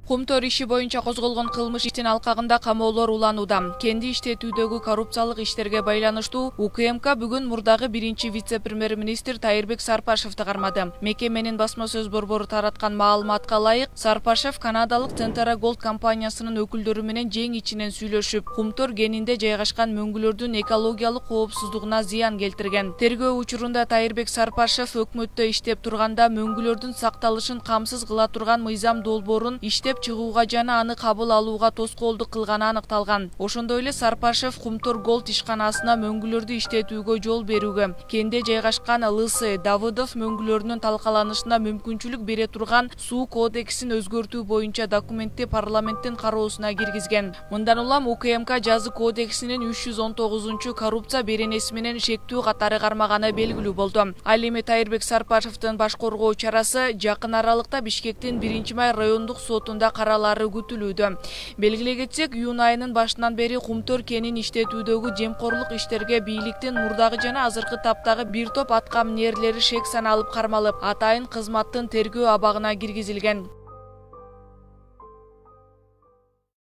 Кумтөр иши боюнча козголгон кылмыш иштин алкагында камоолор уланууда. Кенди иштетүүдөгү коррупциялык иштерге байланыштуу УКМК бүгүн мурдагы биринчи вице-премьер-министр Тайырбек Сарпашевди кармады. Мекеменин басма сөз борбору тараткан маалыматка ылайык, Сарпашев канадалык Tentara Gold компаниясынын өкүлдөрү менен жең ичинен сүйлөшүп, Кумтөр кенинде жайгашкан мөңгүлөрдүн экологиялык коопсуздугуна зыян келтирген. Тергөө учурунда Тайырбек Сарпашев өкмөттө иштеп турганда мөңгүлөрдүн сакталышын камсыз кыла турган мыйзам долбоорун иштеп чыгууга жана аны кабыл алууга тоскоолдук кылганы аныкталган. Ошондой эле Сарпашев Кумтөр Голд ишканасына мөңгүлөрдү иштетүүгө жол берүүгө, кенде жайгашкан ЛС Давыдов мөңгүлөрүнүн талкаланышына мүмкүнчүлүк бере турган суу кодексин өзгөртүү боюнча документти парламенттин кароосуна киргизген. Мындан улам УКМК жазы кодексинин 319 коррупция беренеси менен шектүү катары кармаганы белгилүү болду. Ал эми Тайырбек Сарпашевдин баш коргоо чарасы жакын аралыкта Бишкектин 1-май райондук сотунда каралары күтүлүүдө. Белгилей кетсек, июнь айынын башынан бери Кумтөр кенин иштетүүдөгү жемкорлук иштерге бийликтин мурдагы жана азыркы таптагы бир топ аткаминерлери шек саналып кармалып, атайын кызматтын тергөө абагына киргизилген.